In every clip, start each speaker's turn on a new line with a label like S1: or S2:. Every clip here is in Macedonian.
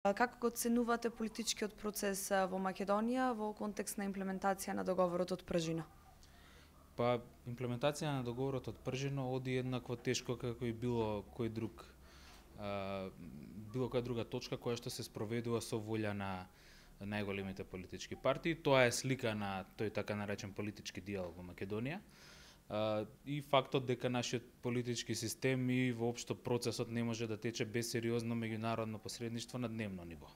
S1: Како го оценувате политичкиот процес во Македонија во контекст на имплементација на договорот од Пржина?
S2: Па, имплементација на договорот од Пржина оди еднакво тешко како и било која друга точка која што се спроведува со волја на најголемите политички партии. Тоа е слика на тој така наречен политички диалог во Македонија. И фактот дека нашиот политички систем и воопшто процесот не може да тече без сериозно меѓународно посредништво на дневно ниво.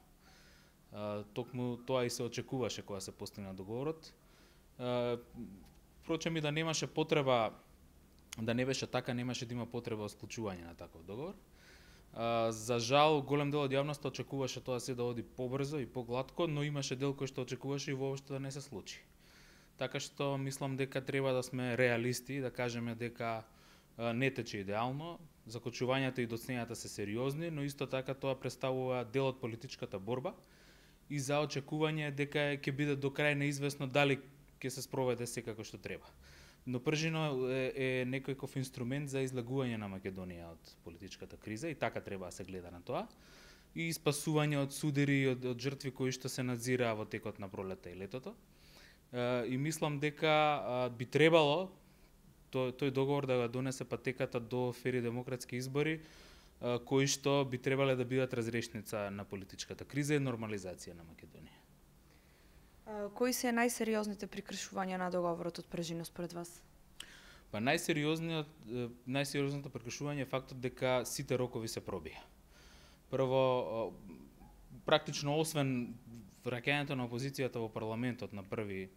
S2: Токму тоа и се очекуваше кога се постигна договорот. Впрочем и да немаше потреба, да не беше така, немаше да има потреба од склучување на таков договор. За жал, голем дел од јавноста очекуваше тоа се да оди побрзо и погладко, но имаше дел кој што очекуваше и воопшто да не се случи. Така што мислам дека треба да сме реалисти и да кажеме дека не тече идеално, закочувањата и доцнењата се сериозни, но исто така тоа представува дел од политичката борба и за очекување дека ќе биде до крај неизвестно дали ќе се спроведе се како што треба. Но Пржино е некој инструмент за излегување на Македонија од политичката криза и така треба да се гледа на тоа. И спасување од судири и од жртви кои што се надзираа во текот на пролетта и летото. И мислам дека би требало тој договор да го донесе патеката до фери демократски избори, кои што би требале да бидат разрешница на политичката криза и нормализација на Македонија.
S1: Кои се најсериозните прекршувања на договорот од Пржина според вас?
S2: Па најсериозното прекршување е фактот дека сите рокови се пробија. Прво, практично освен враќањето на опозицијата во парламентот на 1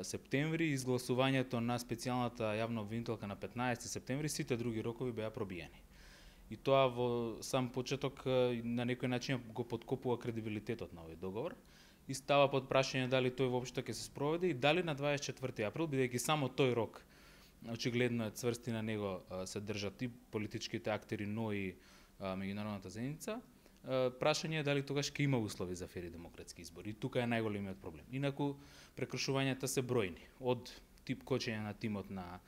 S2: септември и изгласувањето на специјалната јавна обвинителка на 15 септември, сите други рокови беа пробиени. И тоа во сам почеток на некој начин го подкопува кредибилитетот на овој договор и става под прашање дали тој воопшто ќе се спроведе и дали на 24 април, бидејќи само тој рок очигледно е цврст и на него се држат и политичките актери, но и меѓународната заедница. Прашање е дали тогаш ќе има услови за фери демократски избори. И тука е најголемиот проблем. Инаку прекршувањата се бројни. Од тип кочење на тимот на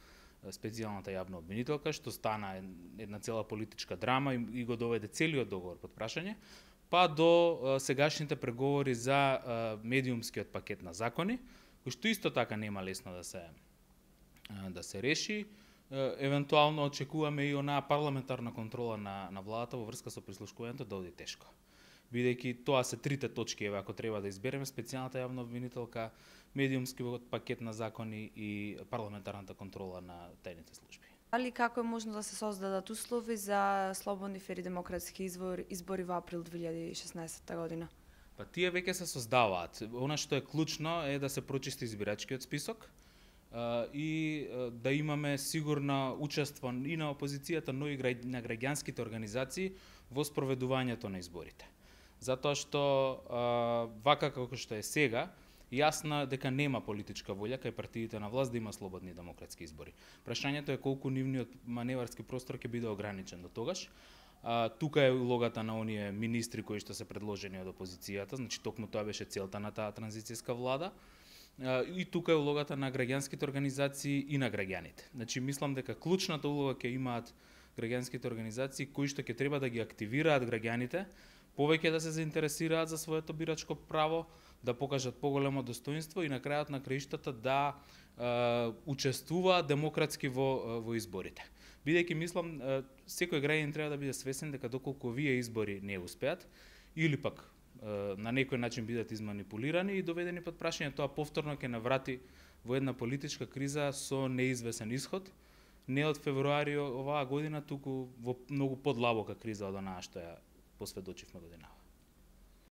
S2: специјалната јавна обвинителка, што стана една цела политичка драма и го доведе целиот договор под прашање, па до сегашните преговори за медиумскиот пакет на закони, кој што исто така нема лесно да се реши. Евентуално очекуваме и онаа парламентарна контрола на владата во врска со прислушкувањето да оди тешко. Бидејќи тоа се трите точки, ако треба да избереме, специјалната јавна обвинителка, медиумскиот пакет на закони и парламентарната контрола на тајните служби.
S1: Дали како е можно да се создадат услови за слободни фери демократски избори во април 2016 година?
S2: Па тие веќе се создаваат. Она што е клучно е да се прочисти избирачкиот список и да имаме сигурно учество и на опозицијата, но и на граѓанските организации во спроведувањето на изборите. Затоа што вака како што е сега, јасно дека нема политичка волја кај партиите на власт да има слободни демократски избори. Прашањето е колку нивниот маневарски простор ќе биде ограничен до тогаш. Тука е улогата на оние министри кои што се предложени од опозицијата, значи токму тоа беше целта на таа транзицијска влада. И тука е улогата на граѓанските организации и на граѓаните. Значи мислам дека клучната улога ќе имаат граѓанските организации кои што ќе треба да ги активираат граѓаните, повеќе да се заинтересираат за своето бирачко право, да покажат поголемо достоинство и на крајот на краиштата да учествуваат демократски во изборите. Бидејќи мислам секој граѓанин треба да биде свесен дека доколку овие избори не успеат или пак на некој начин бидат изманипулирани и доведени под прашање, тоа повторно ќе наврати во една политичка криза со неизвесен исход, не од февруари оваа година, туку во многу подлабока криза од онаа што ја посведочивме годинава.